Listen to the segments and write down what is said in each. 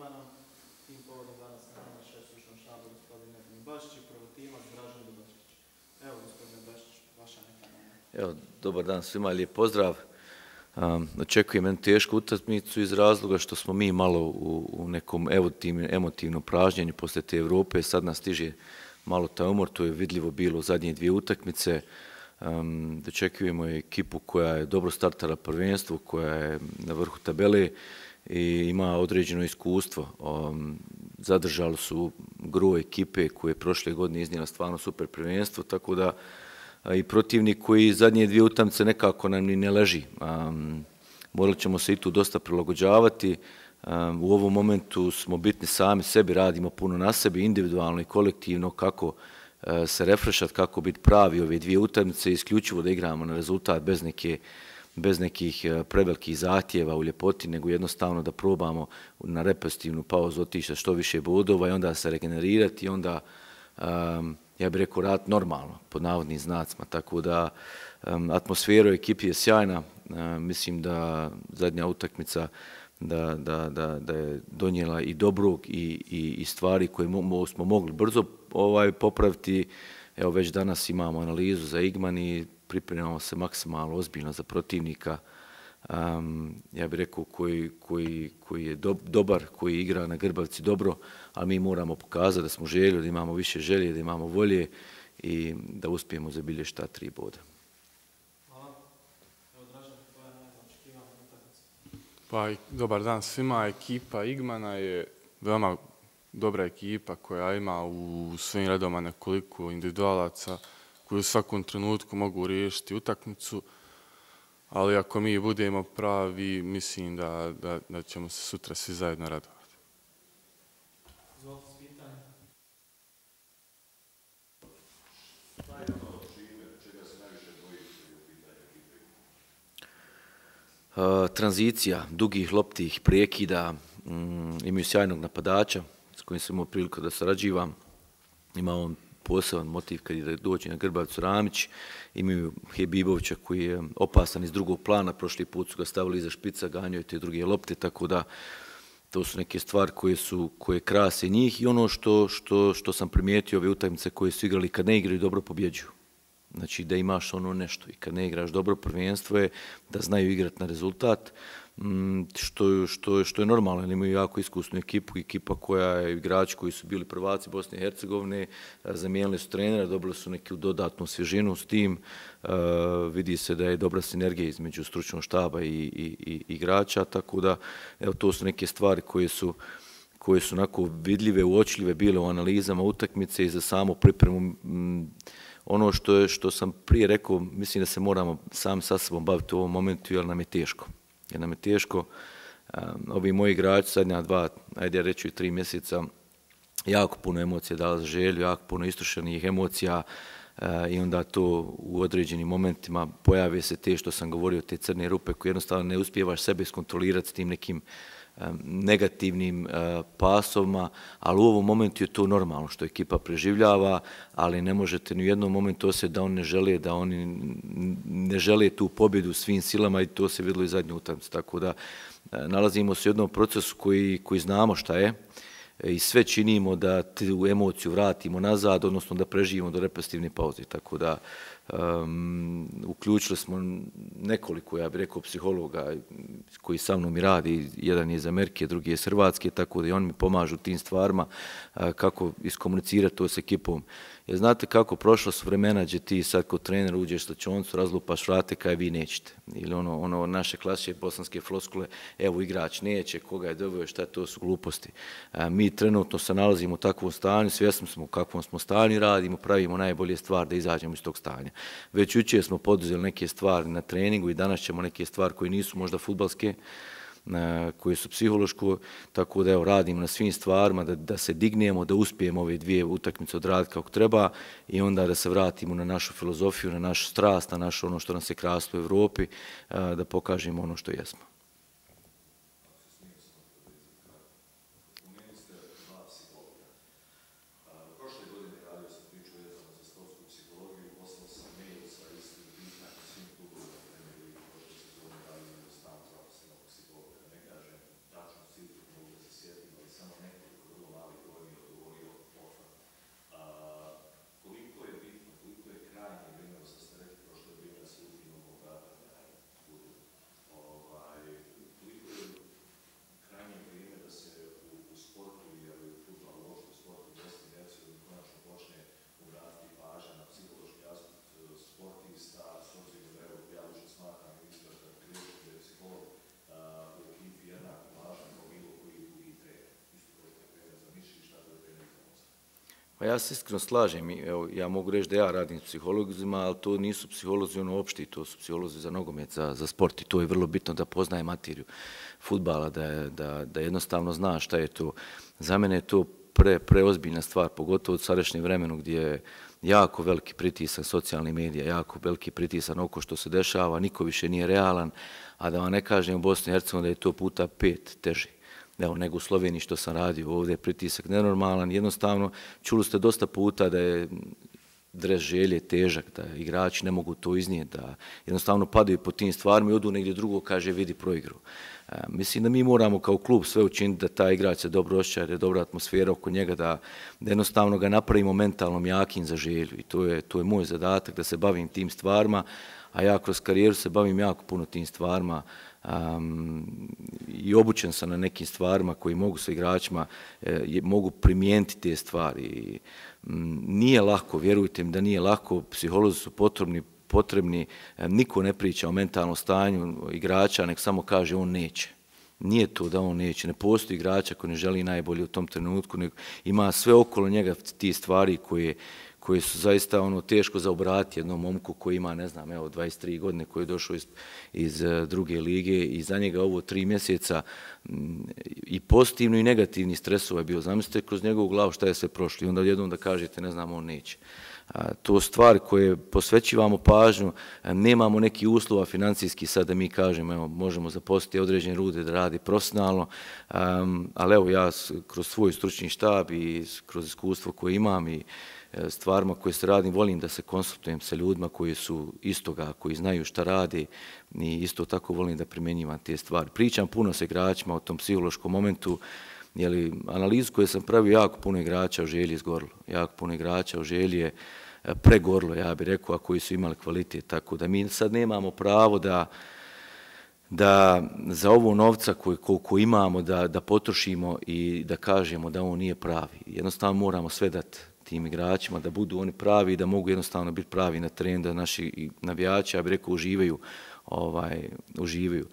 Igmanom. Tim povodom danas na nama šef stručnog štaba gospodin Edin Bašić i prvotimac Dražen Dubačić. Evo gospodine Bašić, vaša neka nama. Evo, dobar dan svima, lijep pozdrav. Očekujem jednu tešku utakmicu iz razloga što smo mi malo u nekom emotivnom pražnjenju poslije te Europe. Sad nas stiže malo taj umor, to je vidljivo bilo u zadnje dvije utakmice. Dočekujemo ekipu koja je dobro startala prvenstvo, koja je na vrhu tabele i ima određeno iskustvo. Zadržali su gro ekipe koje je prošle godine iznijela stvarno super prvenstvo, tako da i protivnik koji zadnje dvije utakmice nekako nam ni ne leži. Morali ćemo se i tu dosta prilagođavati. U ovom momentu smo bitni sami sebi, radimo puno na sebi, individualno i kolektivno, kako se refrešati, kako biti pravi ove dvije utakmice, isključivo da igramo na rezultat bez nekih prevelikih zahtjeva u ljepoti, nego jednostavno da probamo na repetitivnu pauzu otići što više bodova i onda se regenerirati i onda, ja bih rekao, raditi normalno, pod navodnim znacima. Tako da atmosfera u ekipi je sjajna. Mislim da zadnja utakmica da je donijela i dobrog i stvari koje smo mogli brzo popraviti. Evo već danas imamo analizu za Igman i pripremamo se maksimalno ozbiljno za protivnika. Ja bih rekao koji je dobar, koji igra na Grbavci dobro, ali mi moramo pokazati da smo željeli, da imamo više želje, da imamo volje i da uspijemo zabilježiti ta 3 boda. Pa, dobar dan svima. Ekipa Igmana je veoma dobra ekipa koja ima u svojim redovima nekoliko individualaca koji u svakom trenutku mogu riješiti utakmicu, ali ako mi budemo pravi, mislim da ćemo se sutra svi zajedno radovati. Tranzicija, dugih loptih prekida, imaju sjajnog napadača s kojim sam imao priliku da sarađivam. Ima on poseban motiv kad dođe na Grbavicu Ramić. Imaju Hebibovića koji je opasan iz drugog plana, prošli put su ga stavili iza špica, ganjaju te druge lopte, tako da to su neke stvari koje krase njih i ono što sam primijetio ove utakmice koje su igrali kad ne igraju dobro pobjeđuju. Znači da imaš ono nešto i kad ne igraš dobro, prvenstvo je da znaju igrati na rezultat, što je normalno, jer imaju jako iskusnu ekipa koja je igrači koji su bili prvaci Bosne i Hercegovine, zamijenili su trenera, dobili su neku dodatnu svježinu s tim, vidi se da je dobra sinergija između stručnog štaba i igrača, tako da evo, to su neke stvari koje su onako vidljive, uočljive bile u analizama utakmice i za samu pripremu. Ono što sam prije rekao, mislim da se moramo sami sa sobom baviti u ovom momentu, jer nam je teško. Ovi moji igrači zadnja 2, ajde reći 3 mjeseca, jako puno emocija dala za želju, jako puno istrošenih emocija i onda to u određenim momentima pojave se te što sam govorio, te crne rupe koje jednostavno ne uspijevaš sebe iskontrolirati s tim nekim negativnim pasovima, ali u ovom momentu je to normalno što ekipa preživljava, ali ne možete ni u jednom momentu osjetiti da oni ne žele tu pobjedu svim silama i to se vidjelo i zadnju utakmicu. Tako da nalazimo se u jednom procesu koji znamo šta je i sve činimo da tu emociju vratimo nazad, odnosno da preživimo do repetitivne pauze. Tako da uključili smo nekoliko, ja bih rekao, psihologa koji sa mnom i radi, jedan je iz Amerike, drugi je iz Hrvatske, tako da i oni mi pomažu tim stvarima kako iskomunicirati to s ekipom. Jer znate kako, prošla su vremena gdje ti sad kod trenera uđeš u slačionicu, razlupaš vrate kaj vi nećete. Ili ono naše klasične bosanske floskule, evo igrač neće, koga je doveo, šta to su gluposti. Mi trenutno se nalazimo u takvom stanju, svjesni smo u kakvom smo stanju, radimo, pravimo najbolje stvari da izađemo iz tog stanja. Već jučer smo poduzeli neke stvari na treningu i danas ćemo neke stvari koje nisu možda fudbalske, koje su psihološko, tako da evo, radimo na svim stvarima, da se dignemo, da uspijemo ove dvije utakmice odraditi kako treba i onda da se vratimo na našu filozofiju, na našu strast, na naše ono što nas je krasilo u Europi, da pokažemo ono što jesmo. Pa ja se iskreno slažem, evo, ja mogu reći da ja radim s psiholozima, ali to nisu psiholozi opšti, to su psiholozi za nogomet, za sport i to je vrlo bitno da poznaje materiju fudbala, da jednostavno zna šta je to. Za mene je to preozbiljna stvar, pogotovo u sadašnjem vremenu gdje je jako veliki pritisak socijalnih medija, jako veliki pritisak na oko što se dešava, niko više nije realan, a da vam ne kažem u Bosni i Hercegovini da je to puta 5 teže. Evo, nego u Sloveniji što sam radio, ovdje je pritisak nenormalan, jednostavno čuli ste dosta puta da je dres želje težak, da igrači ne mogu to iznijeti, da jednostavno padaju po tim stvarima i odu negdje drugo, kaže vidi proigru. Mislim da mi moramo kao klub sve učiniti da taj igrač se dobro osjeća, da je dobra atmosfera oko njega, da jednostavno ga napravimo mentalnom jakim za želju i to je moj zadatak da se bavim tim stvarima, a ja kroz karijeru se bavim jako puno tim stvarima i obučen sam na nekim stvarima koji mogu sa igračima, mogu primijeniti te stvari. Nije lako, vjerujte mi da nije lako, psiholozi su potrebni, niko ne priča o mentalnom stanju igrača, nek samo kaže on neće. Nije to da on neće, ne postoji igrača koji ne želi najbolje u tom trenutku, nego ima sve okolo njega ti stvari koje su zaista teško za obratiti jednom momku koji ima, ne znam, evo 23 godine, koji je došao iz druge lige i za njega ovo 3 mjeseca i pozitivno i negativni stresova je bio. Zamislite kroz njegovu glavu šta je sve prošlo i onda jednom da kažete, ne znam, on neće. To stvari koje posvećivamo pažnju, nemamo neki uslova financijski sad da mi kažemo, evo, možemo zaposliti određene ljude da radi profesionalno, ali evo ja kroz svoj stručni štab i kroz iskustvo koje imam i stvarima koje se radim, volim da se konsultujem sa ljudima koji su istoga, koji znaju šta radi i isto tako volim da primjenjivam te stvari. Pričam puno sa igračima o tom psihološkom momentu, jer analizu koju sam pravio, jako puno igrača u Želji izgorilo. Jako puno igrača u Želji je pregorilo, ja bih rekao, a koji su imali kvalitet. Tako da mi sad nemamo pravo da za ovo novca koliko imamo da potrošimo i da kažemo da on nije pravi. Jednostavno moramo sve dati tim igračima, da budu oni pravi i da mogu jednostavno biti pravi na terenu, da naši navijači, ja bih rekao, uživaju.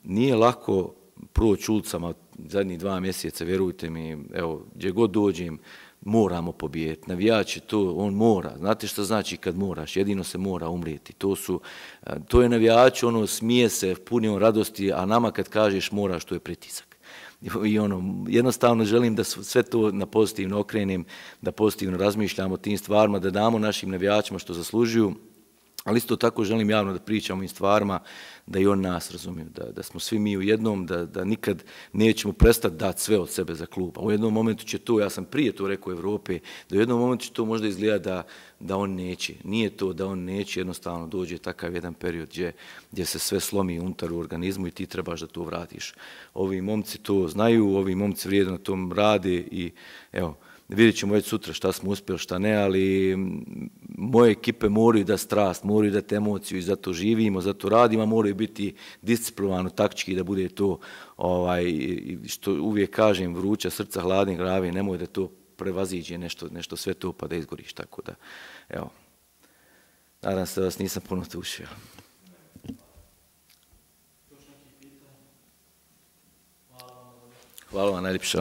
Nije lako proći ulicama zadnjih 2 mjeseca, vjerujte mi, evo, gdje god dođem, moramo pobijediti. Navijač je to, on mora. Znate što znači kad moraš? Jedino se mora umrijeti. To je navijač, smije se, puni on radosti, a nama kad kažeš moraš, to je pritisak. I jednostavno želim da sve to na pozitivno okrenem, da pozitivno razmišljamo o tim stvarima, da damo našim navijačima što zaslužuju, ali isto tako želim javno da pričam o ovim stvarima, da i oni nas razumiju, da smo svi mi u jednom, da nikad nećemo prestati dati sve od sebe za klub. A u jednom momentu će to, ja sam prije to rekao u Evropi, da u jednom momentu će to možda izgleda da on neće. Nije to da on neće, jednostavno dođe takav jedan period gdje se sve slomi unutar u organizmu i ti trebaš da to vratiš. Ovi momci to znaju, ovi momci vrijedno na tom rade i evo, vidjet ćemo već sutra šta smo uspjeli, šta ne, ali moje ekipe moraju da strast, moraju dati emociju i zato živimo, zato radimo, moraju biti disciplinovano, taktički da bude to, što uvijek kažem, vruća srca, hladne glave, nemoj da to prevaziđe nešto sve to pa da izgoriš, tako da, evo, nadam se da vas nisam puno tušio. Hvala vam najljepša.